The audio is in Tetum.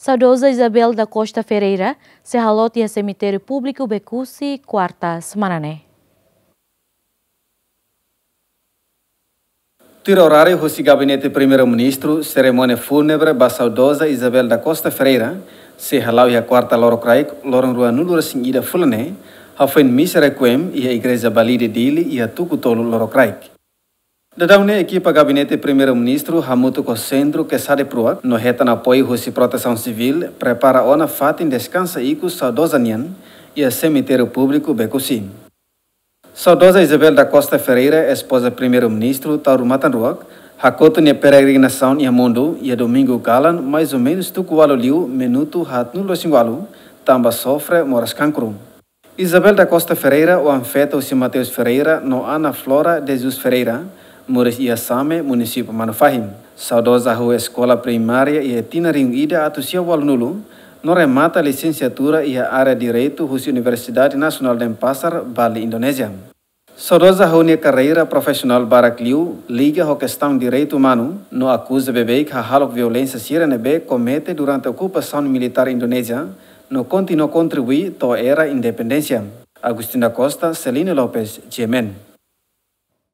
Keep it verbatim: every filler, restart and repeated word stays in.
Saudoza Isabel da Costa Ferreira sei haloot iha semitériu públiku Becusse, kuarta semana ne'e. Tuir oráriu husi Gabinete Primeiru-Ministru, serimónia fúnebre ba saudoza Isabel da Costa Ferreira sei hala'o iha kuarta lorokraik, loron ruanulu-resin-ida fulan ne'e, hafoin misa requiem iha Igreja Balide Dili iha tuku tolu lorokraik. Daudaun ne'e ekipa Gabinete Primeiru-Ministru hamutuk ho Sentru Quesada Pruak no hetan apoiu husi Protesaun Sivíl prepara ona fatin deskansa ikus saudoza nian iha semitériu públiku Becusse. Saudoza Isabel da Costa Ferreira, espoza Primeiru-Ministru Taur Matan Ruak, hakotu nia peregrinasaun iha mundu iha domingu kalan, mais ou menus tuku ualu liu minutu haatnulu-resin-ualu, tanba sofre moras kankru. Isabel da Costa Ferreira, oan-feto husi Mateus Ferreira no Ana Flora de Jesus Ferreira, moris iha Same, munisípiu Manufahi. Saudoza hahú eskola primária iha tinan rihun ida atus sia ualunulu, no remata lisensiatura iha área Direitu husi Universidade Nasionál Denpasar, Bali, Indonézia. Saudoza hahú nia karreira profisionál barak liu liga ho kestaun direitu umanu, no akuza beibeik hahalok violénsia sira ne'ebé komete durante okupasaun militár Indonézia, no kontinua kontribui to'o era independénsia. Agostinho da Costa, Celino Lopes, G M N.